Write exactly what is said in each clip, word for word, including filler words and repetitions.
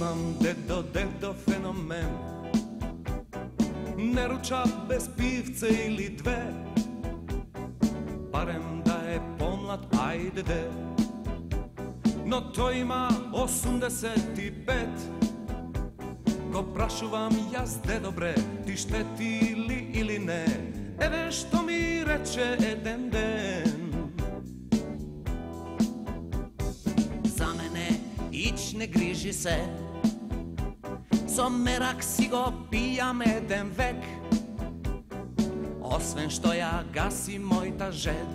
имам дедо, дедо феномен. Не руча без пивце или две, барем да е помлад, ајде де. Но тој има осумдесет и пет. Го прашувам јас, дедо бре, ти штети ли или не? Еве што ми рече еден ден. За мене ич не грижи се, со мерак си го пијам еден век. Освен што ја гаси мојта жед,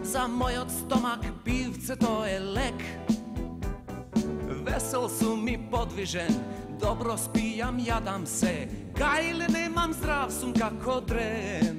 за мојот стомак пивцето е лек. Весел сум и подвижен, добро спијам, јадам се, кајле немам, здрав сум како дрен.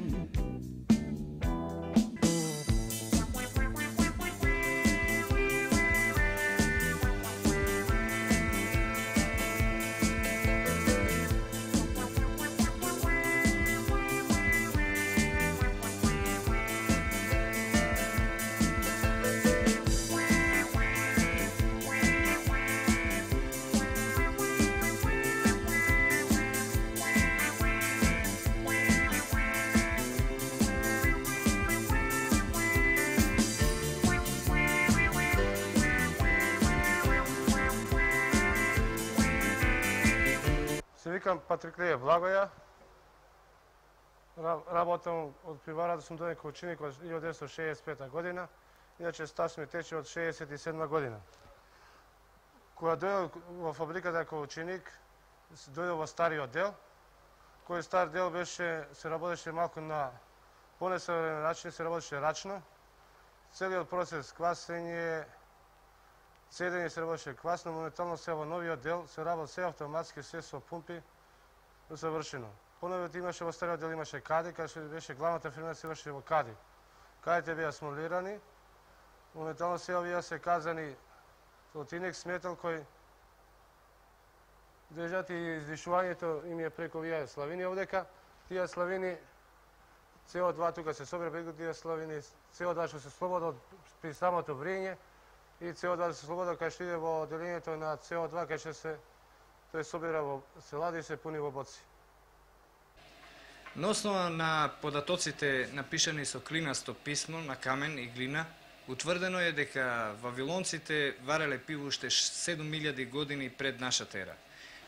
Се викам Патриклије Благоја, работам од пиварата, сум дојден како ученик од илјада деветстотини шеесет и пета година, иначе стаж ми тече од шеесет и седма година. Кога дојдов во фабриката како ученик, дојдов во стариот дел, кој стар дел беше, се работеше малку на понесовремен начин, се работеше рачно. Целиот процес, квасење, цедење се работеше квасно, моментално се во новиот дел се работи се автоматски, се со пумпи, завршено. Поновиот имаше во стариот дел имаше кади, каде што беше главната фирма се врши во кади. Кадите беа смолирани, моментално се овие се казани Лотинек сметал кој држат и издишувањето им е преку овие славини овдека. Тие славини С О два тука се собира преку тие славини, С О два што се слобода при самото врење и С О два се слобода кај што иде во делењето на С О два кај што се тој собира во се лади и се пуни во боци. На основа на податоците напишани со клинасто писмо на камен и глина, утврдено е дека вавилонците вареле пиво уште седум илјади години пред нашата ера.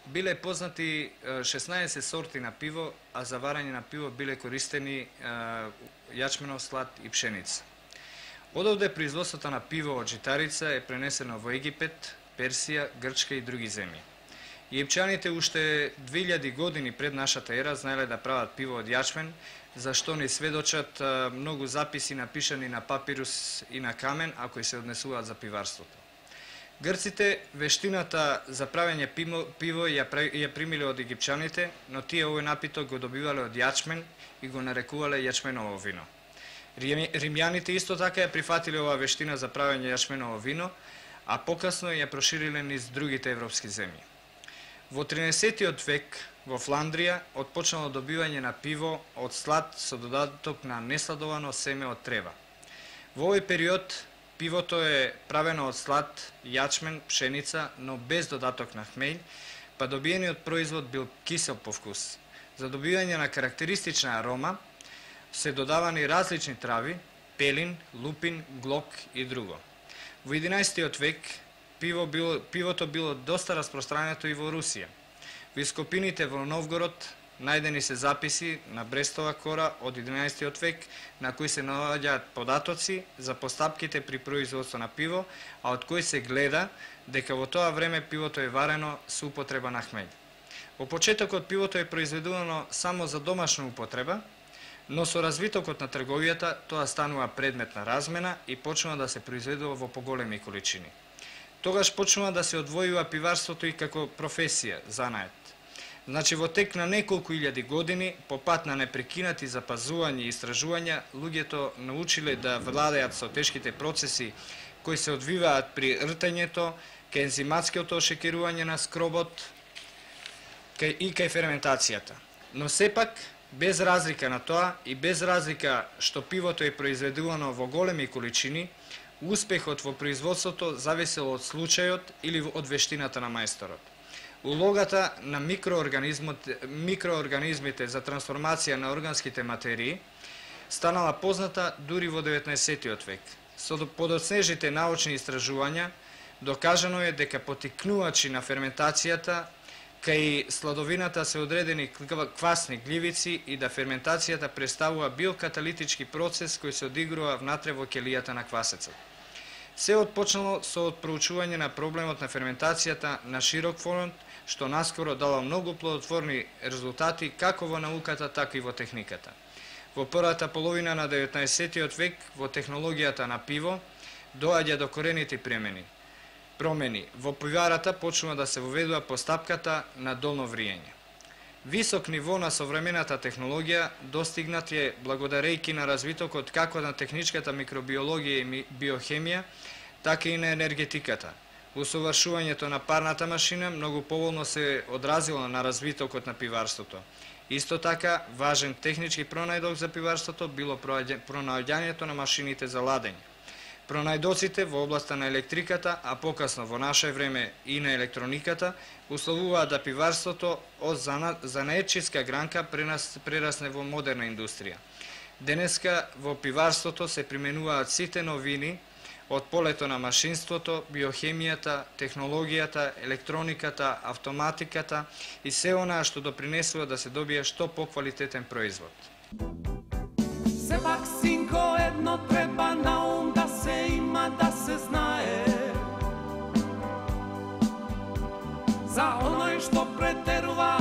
Биле познати шеснаесет сорти на пиво, а за варање на пиво биле користени јачменов слад и пшеница. Одовде производството на пиво од житарица е пренесено во Египет, Персија, Грчка и други земји. Египчаните уште две илјади години пред нашата ера знаеле да прават пиво од јачмен, за што ни сведочат многу записи напишани на папирус и на камен, а кои се однесуваат за пиварството. Грците вештината за правење пиво, пиво ја, ја примиле од египчаните, но тие овој напиток го добивале од јачмен и го нарекувале јачменово вино. Римјаните исто така ја прифатиле оваа вештина за правење јачменово вино, а покасно ја прошириле низ другите европски земји. Во тринаесеттиот век во Фландрија отпочнало добивање на пиво од слад со додаток на несладовано семе од трева. Во овој период пивото е правено од слад, јачмен, пшеница, но без додаток на хмелј, па добиениот производ бил кисел по вкус. За добивање на карактеристична арома се додавани различни трави, пелин, лупин, глок и друго. Во единаесеттиот век пиво било, пивото било доста распространето и во Русија. Во ископините во Новгород најдени се записи на Брестова кора од единаесеттиот век на кои се наоѓаат податоци за постапките при производство на пиво, а од кои се гледа дека во тоа време пивото е варено со употреба на хмелј. Во почетокот пивото е произведувано само за домашна употреба, но со развитокот на трговијата тоа станува предмет на размена и почнува да се произведува во поголеми количини. Тогаш почнува да се одвојува пиварството и како професија, занает. Значи, во тек на неколку илјади години, по пат на непрекинати запазување и истражувања, луѓето научиле да владеат со тешките процеси кои се одвиваат при ртењето, кај ензиматското ошекерување на скробот и кај ферментацијата. Но сепак, без разлика на тоа и без разлика што пивото е произведувано во големи количини, Успехот во производството зависел од случајот или од вештината на мајсторот. Улогата на микроорганизмите за трансформација на органските материи станала позната дури во деветнаесеттиот век. Со подоцнежните научни истражувања докажано е дека потикнувачи на ферментацијата кај сладовината се одредени квасни гливици и да ферментацијата представува биокаталитички процес кој се одигрува внатре во ќелијата на квасецот. Се отпочнало со проучување на проблемот на ферментацијата на широк фронт, што наскоро дало многу плодотворни резултати како во науката, така и во техниката. Во првата половина на деветнаесеттиот век во технологијата на пиво доаѓа до корените промени. Промени во пиварата почнува да се воведува постапката на долно вриење. Висок ниво на современата технологија достигнат е благодарејќи на развитокот како на техничката микробиологија и биохемија, така и на енергетиката. Усовршувањето на парната машина многу поволно се одразило на развитокот на пиварството. Исто така, важен технички пронајдок за пиварството било пронаоѓањето на машините за ладење. Пронајдоците во областа на електриката, а покасно во наше време и на електрониката, условуваат да пиварството од занаетчиска гранка прерасне во модерна индустрија. Денеска во пиварството се применуваат сите новини од полето на машинството, биохемијата, технологијата, електрониката, автоматиката и се онаа што допринесува да се добие што поквалитетен производ. Сепак, синко, едно треба на ум да се има, да се знае. За оној што претерува,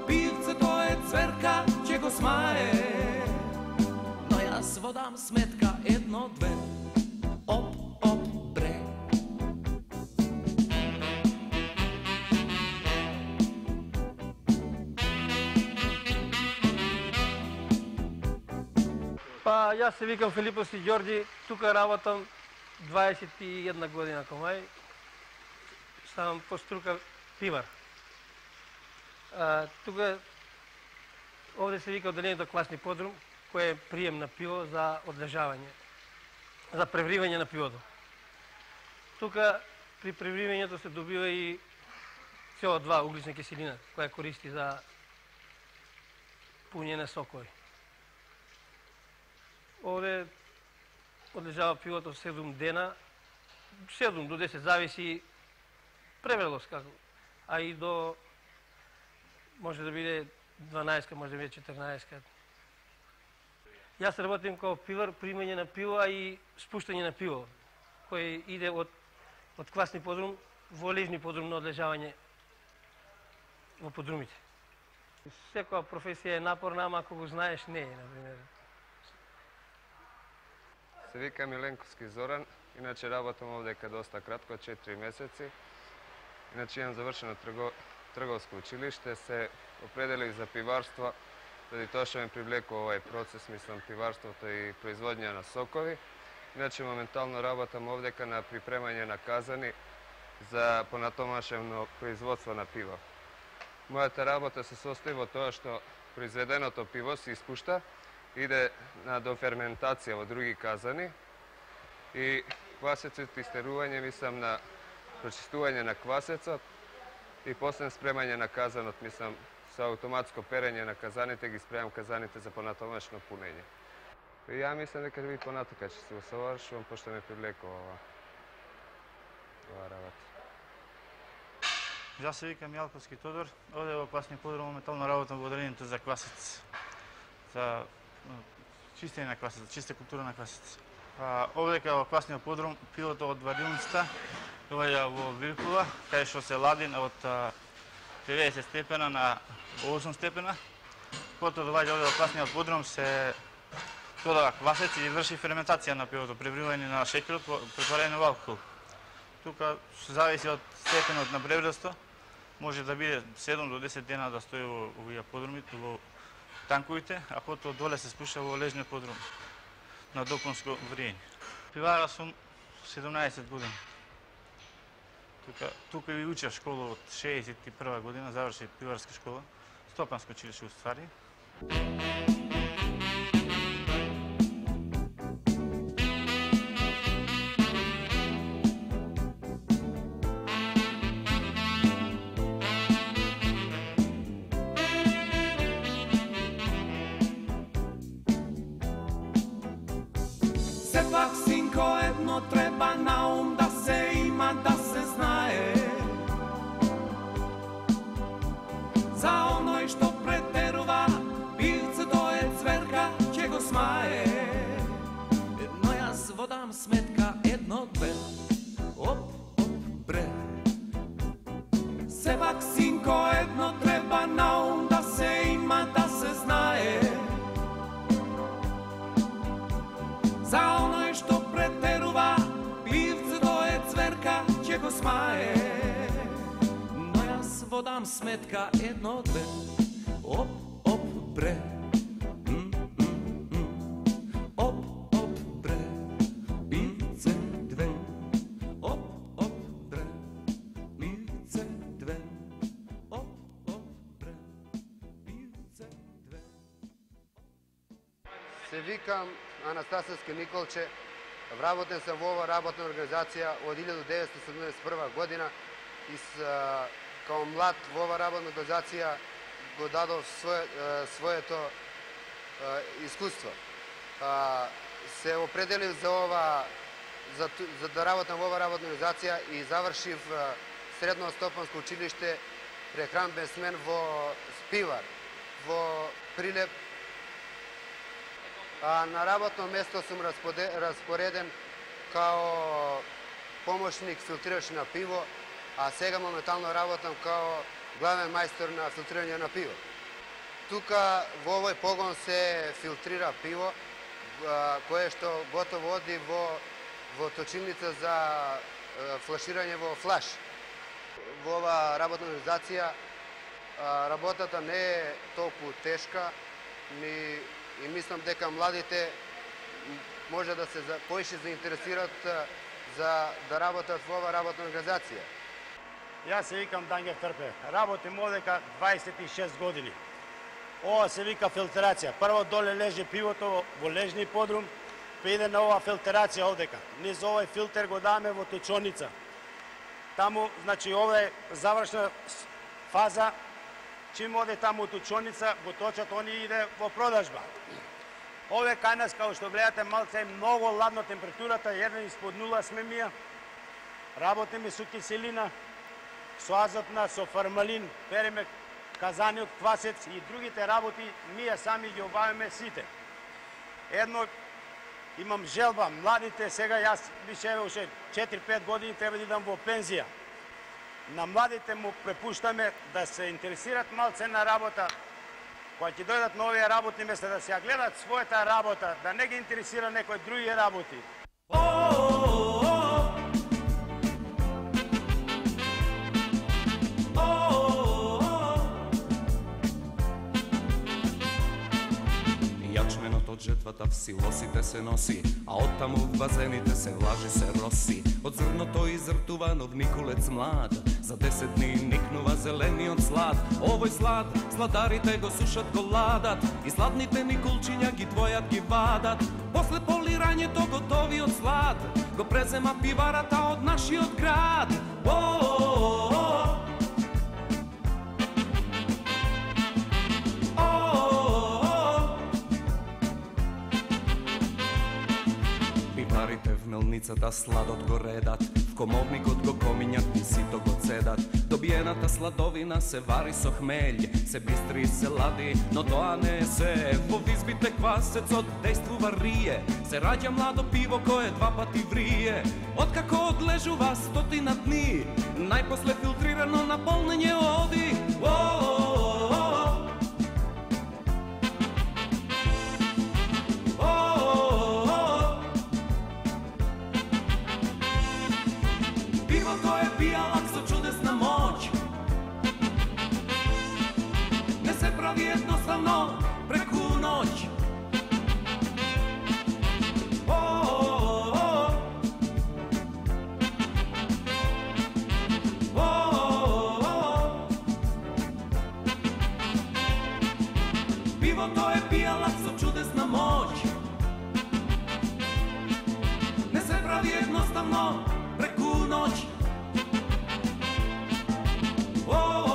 пивцето е цверка, ќе го смае. Но јас водам сметка едно-две. Оп, оп, бре. Па, јас се викам Филипос и Ѓорѓи, тука работам дваесет и една година комај. Ставам по струка пивар. А, тука, овде се вика одделението класни подрум, кој е прием на пиво за одлежавање, за превривање на пивото. Тука при превривањето се добива и С О два, углична киселина, која користи за пуњење сокови. Овде одлежава пивото седум дена, седум до десет, зависи превелост како, а и до може да биде дванаесет, може да биде четрнаесет. Јас работим како пивар, примање на пиво, а и спуштање на пиво, кој иде од, од квасни подрум во лежни подрум на одлежавање во подрумите. Секоја професија е напорна, ама ако го знаеш, не е, например. Се вика Миленковски Зоран, иначе работам овдека доста кратко, четири месеци. Иначе имам завршено трго, трговско училиште, се определих за пиварство, заради тоа што ме привлекува овај процес, мислам, пиварството и производња на сокови. Иначе моментално работам овдека на припремање на казани за понатомашено производство на пиво. Мојата работа се состои во тоа што произведеното пиво се испушта, иде на доферментација во други казани и квасецот истерување, мислам, на прочистување на квасецот и после спремање на казанот, мислам, со автоматско перење на казаните, ги спремам казаните за понатомашно пунење. И ја мислам дека ви понатака ќе се усовршувам, пошто ме привлекува ова, ова работа. Јас се викам Јалковски Тодор, овде во класни подрум моментално работам во одделението за квасец, за чистење на квасец, чиста култура на квасец. А, овдека во класниот подрум пивото од варилницата доаѓа во вилкува, кај што се лади од деветдесет степена на осум степена. Потоа доаѓа овде во класниот подрум, се додава квасец и врши ферментација на пивото, превривање на шеќерот, препарање на алкохол. Тука зависи од степенот на бревресто, може да биде седум до десет дена да стои во овие подрумите, во танковите, а потоа доле се спуша во лежниот подрум на доконско вриење. Пивара сум седумнаесет години. Тука, тука ви учев школа од шеесет и прва година, заврши пиварска школа, Стопанско училиште уствари. Сепак, синко, едно треба на ум да се има, да се знае. За оној што претерува, пивцето е цверка, ќе го смае. Едно јас водам сметка, едно, две, оп, оп, бре. Сепак, синко, едно треба на ум да се има, да се знае. За оној што претерува, пивцето е цверка, ќе го смае. Но јас водам сметка, едно, две, оп, оп, бре. М, м, м. Оп, оп, бре, пивце две. Оп, оп, бре, пивце две. Оп, оп, бре, пивце две. Се викам Анастасовски Николче, вработен сам во ова работна организација од илјаду деветстотини седумдесет и прва година и с, а, као млад во ова работна организација го дадов свое, а, своето а, искуство. А, се определив за ова за, за да работам во ова работна организација и завршив а, средно стопанско училиште прехранбен смен во Спивар, во Прилеп. А на работно место сум распореден као помошник филтрираш на пиво, а сега моментално работам као главен мајстор на филтрирање на пиво. Тука во овој погон се филтрира пиво, кое што готово оди во, во точилница за флаширање во флаш. Во ова работна организација работата не е толку тешка, ни и мислам дека младите може да се поише заинтересираат за да работат во ова работна организација. Јас се викам Дангер Трпев. Работим одека дваесет и шест години. Ова се вика филтрација. Прво доле лежи пивото во лежни подрум, па иде на ова филтрација овдека. Низ овој филтер го даваме во точоница. Таму, значи, ова е завршна фаза. Чим оде таму точоница, го точат, они иде во продажба. Ове кај нас, као што гледате, малце е многу ладно температурата, еден испод нула сме мија. Работиме со киселина, со азотна, со формалин, переме казани од квасец и другите работи, ние сами ги обавиме сите. Едно, имам желба, младите, сега јас више уште четири-пет години треба да идам во пензија. На младите му препуштаме да се интересират малце на работа, кога ќе дојдат на овие работни места, да се ја гледат својата работа, да не ги интересира некои други работи. Јачменот од жетвата в силосите се носи, а оттаму в базените се влажи, се роси. Од зрното изртува нов никулец млад, за десет дни никнува зелениот слад. Овој слад, сладарите го сушат, го ладат, и сладните никулчиња ги двојат, ги вадат. После полирањето готовиот слад го презема пиварата од нашиот град. Мелницата сладот го редат, в комовникот го комињат и сито го цедат. Добиената сладовина се вари со хмелј, се бистри и се лади, но тоа не е се. Во визбите квасецот дејствува рие, се раѓа младо пиво кое два пати врие. Откако одлежува стотина дни, најпосле филтрирано на полнење оди. Jednostavno preku noć. O, o, o. O, o. Pivo to je pijalac со čudesna moć. Ne se pravi jednostavno preku noć. O, o.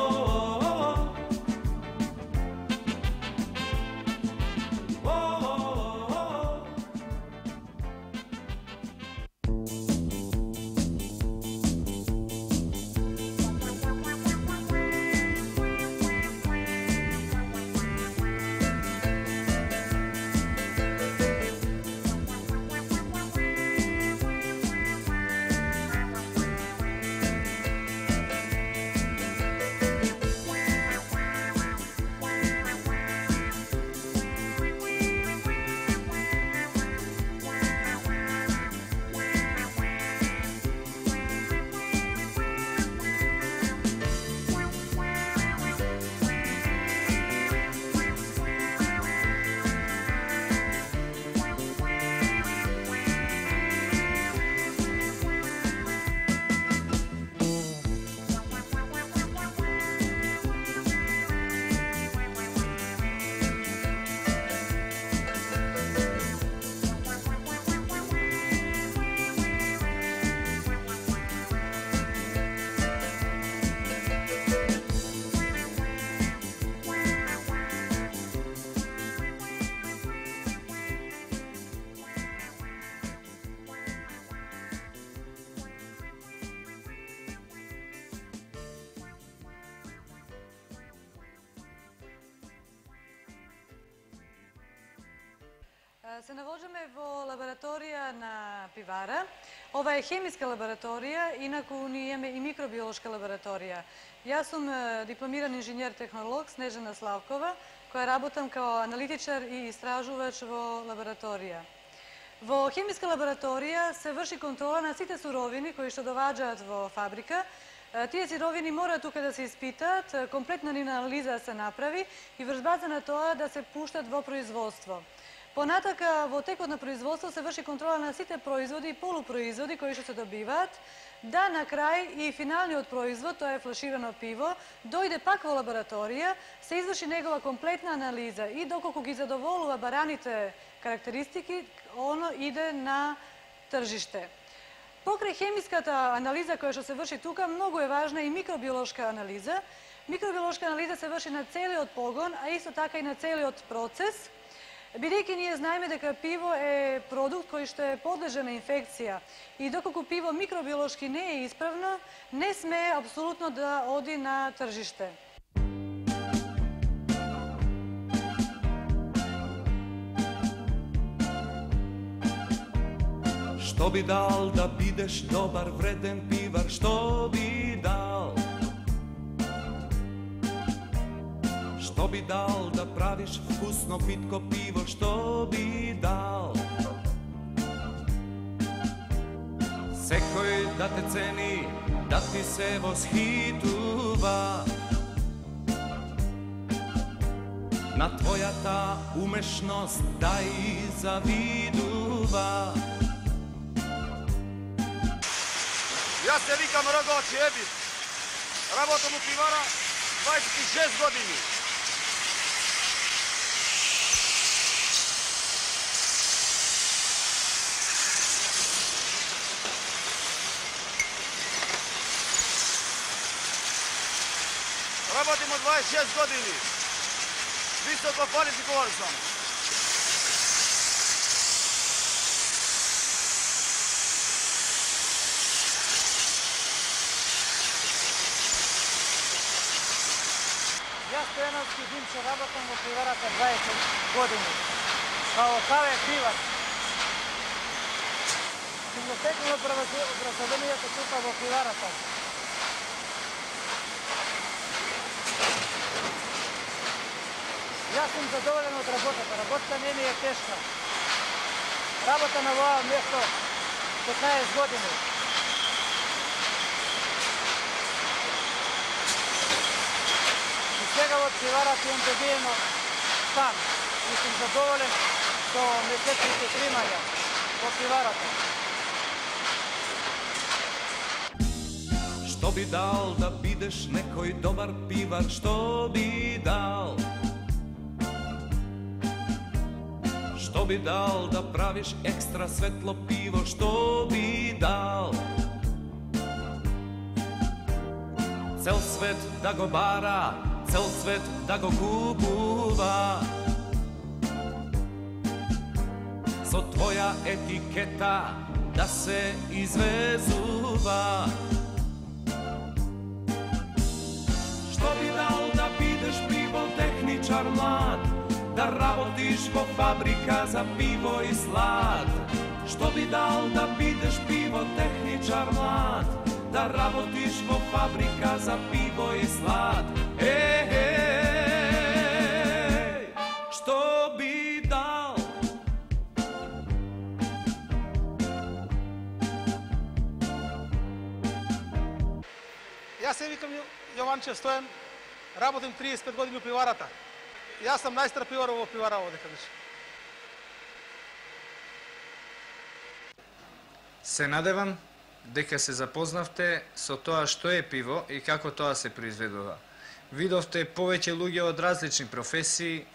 Се навоѓаме во лабораторија на пивара. Ова е хемиска лабораторија, инаку ние имаме и микробиолошка лабораторија. Јас сум дипломиран инженер-технолог Снежана Славкова, која работам као аналитичар и истражувач во лабораторија. Во хемиска лабораторија се врши контрола на сите суровини кои што доваѓаат во фабрика. Тие сировини мора тука да се испитаат, комплетна анализа се направи и врз база на тоа да се пуштат во производство. Понатака, во текот на производство се врши контрола на сите производи и полупроизводи кои што се добиваат, да на крај и финалниот производ, тоа е флаширано пиво, дојде пак во лабораторија, се изврши негова комплетна анализа и доколку ги задоволува бараните карактеристики, оно иде на тржиште. Покрај хемиската анализа која што се врши тука, многу е важна и микробиолошка анализа. Микробиолошка анализа се врши на целиот погон, а исто така и на целиот процес, бидејќи ние знаеме дека пиво е продукт кој што е подлежен на инфекција и доколку пиво микробиолошки не е исправно, не смее апсолутно да оди на тржиште. Што би дал да бидеш добар, вреден пивар, што би дал? Што би дал да правиш вкусно питко пиво, што би дал? Секој да те цени, да ти се восхитува на твојата умешност, да и завидува. Јас се викам Рогоа Чиебис. Работам у пивара двајсет и шест години. Работим од двајсет и шест години. Високо квалификован сум. Јас Стојановски Димчо работам во пиварата дваесет години. Као каве пивар. Сум го стекнал образованието тука во пиварата. Јас сум задоволен од работата. Работата не ми е тешка. Работа на оваа место петнаесет години. Сега од пиварата имам добиено стан и сум задоволен со месечните примања во пиварата. Што би дал да бидеш некој добар пивар, што би дал? Што би дал да правиш екстра светло пиво, што би дал? Цел свет да го бара, цел свет да го купува, со твоја етикета да се извезува. Што би дал да бидеш пивотехничар млад, да работиш во фабрика за пиво и слад? Што би дал да бидеш пивотехничар млад, да работиш во фабрика за пиво и слад? Е, е, што би дал? Јас се викам Јованче Стојан, работим триесет и пет години у пиварата. Јас сум најстар пивар во пивара овде каде. Се надевам дека се запознавте со тоа што е пиво и како тоа се произведува. Видовте повеќе луѓе од различни професии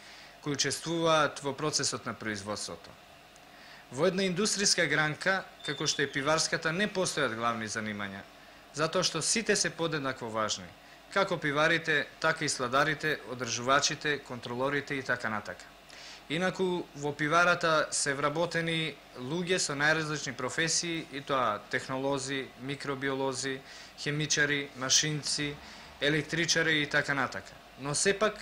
кои учествуваат во процесот на производството. Во една индустријска гранка, како што е пиварската, не постојат главни занимања, затоа што сите се подеднакво важни, како пиварите, така и сладарите, одржувачите, контролорите и така натака. Инаку, во пиварата се вработени луѓе со најразлични професии, и тоа технолози, микробиолози, хемичари, машинци, електричари и така натака. Но сепак,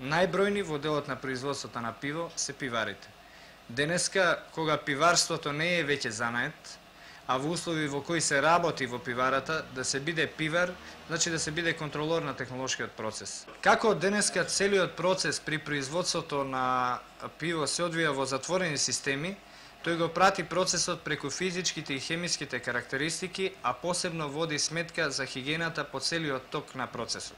најбројни во делот на производството на пиво се пиварите. Денеска, кога пиварството не е веќе занает, а во услови во кои се работи во пиварата, да се биде пивар, значи да се биде контролор на технолошкиот процес. Како денеска целиот процес при производството на пиво се одвија во затворени системи, тој го прати процесот преку физичките и хемиските карактеристики, а посебно води сметка за хигиената по целиот ток на процесот.